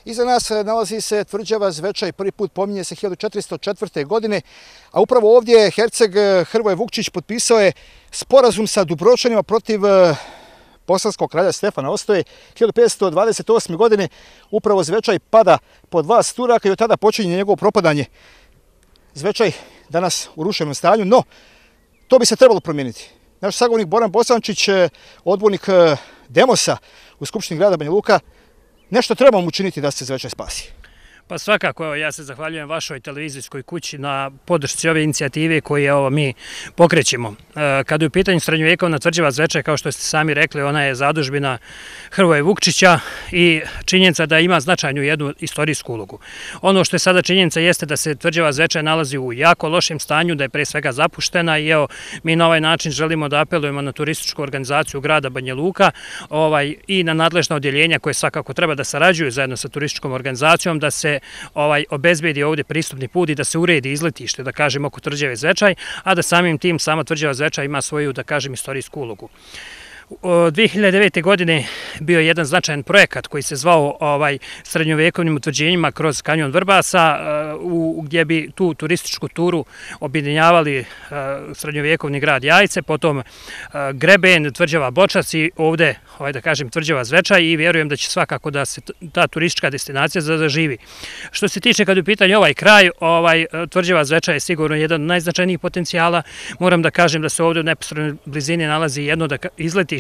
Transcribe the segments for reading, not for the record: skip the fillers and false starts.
Iza nas nalazi se tvrđava Zvečaj, prvi put pominje se 1404. godine, a upravo ovdje herceg Hrvoje Vukčić potpisao je sporazum sa Dubrovčanima protiv bosanskog kralja Stefana Ostoje. 1528. godine upravo Zvečaj pada pod vlast Turaka i od tada počinje njegovo propadanje. Zvečaj danas u ruševnom stanju, no to bi se trebalo promijeniti. Naš sagovornik Boran Bosančić, odbornik Demosa u Skupštini grada Banja Luka, nešto trebamo učiniti da se Zvečaj spasi. Pa svakako, evo, ja se zahvaljujem vašoj televizijskoj kući na podršci ove inicijative koje mi pokrećemo. Kada je u pitanju srednjovjekovna tvrđava Zvečaj, kao što ste sami rekli, ona je zadužbina Hrvoje Vukčića i činjenica da ima značajnu jednu istorijsku ulogu. Ono što je sada činjenica jeste da se tvrđava Zvečaj nalazi u jako lošem stanju, da je pre svega zapuštena i evo, mi na ovaj način želimo da apelujemo na turističku organizaciju grada Banja Luka i na nadležna odjeljenja koje svakako treba da sarađuju zajedno sa turističkom organizacijom, da se obezbedi ovdje pristupni put i da se uredi izletište, da kažem, oko tvrđave Zvečaj, a da samim tim sama tvrđava Zvečaj ima svoju, da kažem, istorijsku ulogu. 2009. godine bio je jedan značajan projekat koji se zvao srednjovjekovnim utvrđenjima kroz kanjon Vrbasa, gdje bi tu turističku turu objedinjavali srednjovjekovni grad Jajce, potom Greben, tvrđava Bočac i ovdje, da kažem, tvrđava Zvečaj, i vjerujem da će svakako da se ta turistička destinacija zaživi. Što se tiče, kad je u pitanju ovaj kraj, tvrđava Zvečaj je sigurno jedan od najznačajnijih potencijala. Moram da kažem da se ovdje u neposrednoj blizini nalazi jedno izletište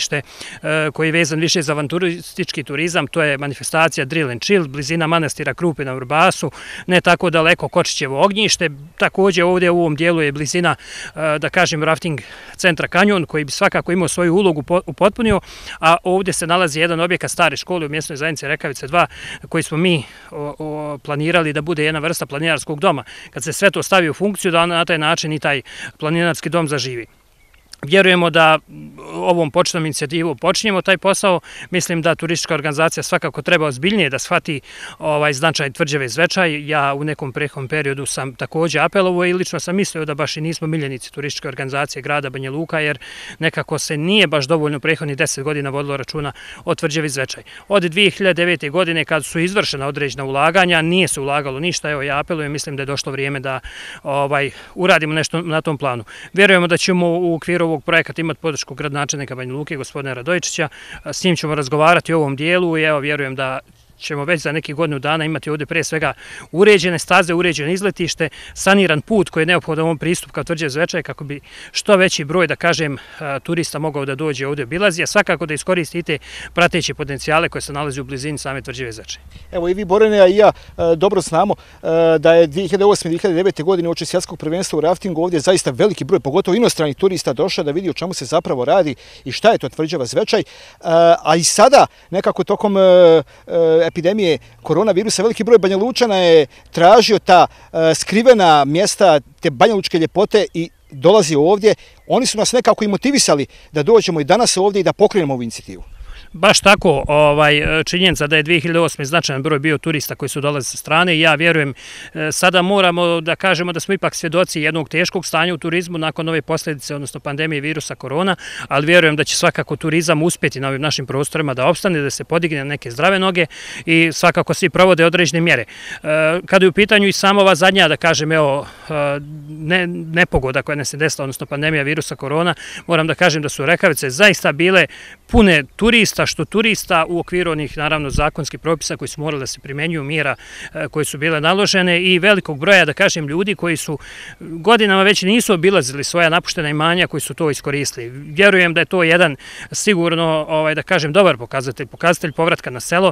koji je vezan više za avanturistički turizam, to je manifestacija Drill and Chill, blizina manastira Krupe na Vrbasu, ne tako daleko Kočićevo ognjište. Također ovdje u ovom dijelu je blizina, da kažem, rafting centra Kanjon, koji bi svakako imao svoju ulogu upotpunio, a ovdje se nalazi jedan objekat stare škole u mjesnoj zajednici Rekavice 2, koji smo mi planirali da bude jedna vrsta planinarskog doma. Kad se sve to stavi u funkciju, da na taj način i taj planinarski dom zaživi. Vjerujemo da ovom početnom inicijativu počinjemo taj posao. Mislim da turistička organizacija svakako treba ozbiljnije da shvati značaj tvrđave Zvečaj. Ja u nekom prethodnom periodu sam također apelovao i lično sam mislio da baš i nismo miljenici turističke organizacije grada Banja Luka, jer nekako se nije baš dovoljno prethodnih 10 godina vodilo računa o tvrđavi Zvečaj. Od 2009. godine, kad su izvršena određena ulaganja, nije se ulagalo ništa. Evo, ja apelujem, mislim da je došlo vrijeme da uradimo nešto na tom planu. Vjerujemo da ćemo u okviru ovog projekata imati podršku gradonačelnika Banja Luke, gospodina Radojičića. S njim ćemo razgovarati o ovom dijelu i evo, vjerujem da ćemo već za neki godinu dana imati ovdje pre svega uređene staze, uređene izletište, saniran put koji je neophodan ovom pristup kao tvrđave Zvečaj, kako bi što veći broj, da kažem, turista mogao da dođe ovdje obilazi, a svakako da iskoristite prateće potencijale koje se nalazi u blizini same tvrđave Zvečaj. Evo, i vi, Borane, a i ja dobro znamo da je 2008-2009. godine uoči svjetskog prvenstva u raftingu ovdje zaista veliki broj, pogotovo inostranih turista, došao da vidi o čemu se zapravo radi i šta je to tvrđava Zvečaj. A i sada, nekako tokom epidemije koronavirusa, veliki broj Banja Lučana je tražio ta skrivena mjesta, te banjalučke ljepote i dolazi ovdje. Oni su nas nekako i motivisali da dođemo i danas ovdje i da pokrenemo ovu inicijativu. Baš tako, činjenica da je 2008. značajan broj bio turista koji su dolazili sa strane i ja vjerujem, sada moramo da kažemo da smo ipak svjedoci jednog teškog stanja u turizmu nakon ove posljedice, odnosno pandemije virusa korona, ali vjerujem da će svakako turizam uspjeti na ovim našim prostorima da opstane, da se podigne na neke zdrave noge i svakako svi provode određene mjere. Kada je u pitanju i sama ova zadnja, da kažem, nepogoda koja nas je desila, odnosno pandemija virusa korona, moram da kažem da su Rekavice zaista bile pune turista, što turista u okviru onih, naravno, zakonskih propisa koji su morali da se primenjuju, mjera koje su bile naložene i velikog broja, da kažem, ljudi koji su godinama već nisu obilazili svoja napuštena imanja, koji su to iskoristili. Vjerujem da je to jedan sigurno, da kažem, dobar pokazatelj povratka na selo.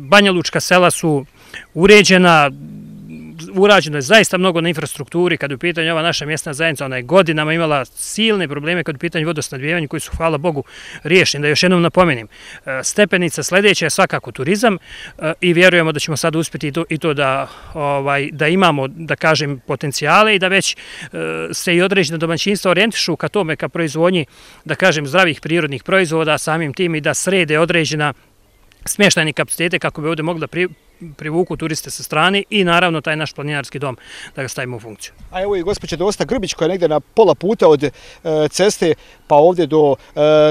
Banjalučka sela su uređena, urađeno je zaista mnogo na infrastrukturi. Kad je u pitanju ova naša mjesna zajednica, ona je godinama imala silne probleme kad je u pitanju vodosnabdijevanja koji su, hvala Bogu, riješeni. Da još jednom napomenem, stepenica sljedeća je svakako turizam i vjerujemo da ćemo sad uspjeti i to da imamo, da kažem, potencijale i da već se i određena domaćinstva orijentišu ka tome, ka proizvodnji, da kažem, zdravih prirodnih proizvoda, samim tim i da srede određena smještajni kapacitete kako bi ovdje mogli da privuku turiste sa strane i naravno taj naš planinarski dom da ga stavimo u funkciju. A evo i gospođa Dosta Grbić koja je negdje na pola puta od ceste pa ovdje do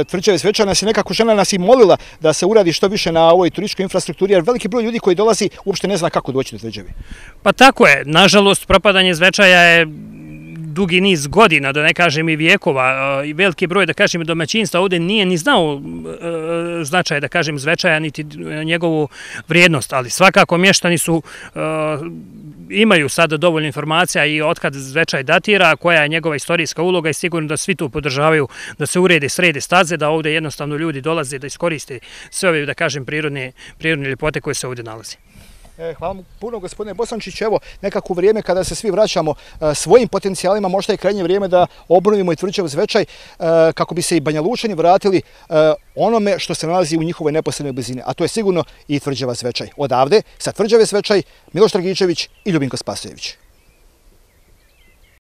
Tvrđave Zvečan nas je nekako žena nas i molila da se uradi što više na ovoj turističkoj infrastrukturi jer veliki broj ljudi koji dolazi uopšte ne zna kako doći do Tvrđave. Pa tako je, nažalost propadanje Zvečaja je dugi niz godina, da ne kažem i vijekova, i veliki broj, da kažem, domaćinstva ovdje nije ni znao značaj, da kažem, Zvečaja, niti njegovu vrijednost, ali svakako mještani imaju sada dovoljno informacija i otkad Zvečaj datira, koja je njegova istorijska uloga i sigurno da svi tu podržavaju da se urede srede staze, da ovdje jednostavno ljudi dolaze da iskoriste sve ove, da kažem, prirodne ljepote koje se ovdje nalazi. Hvala mu puno, gospodine Bosančić. Evo, nekako u vrijeme kada se svi vraćamo svojim potencijalima, možda je krajnje vrijeme da obnovimo i Tvrđavu Zvečaj kako bi se i Banja Lučani vratili onome što se nalazi u njihovoj neposrednoj blizini, a to je sigurno i Tvrđava Zvečaj. Odavde, sa Tvrđave Zvečaj, Miloš Dragičević i Ljubinko Spasojević.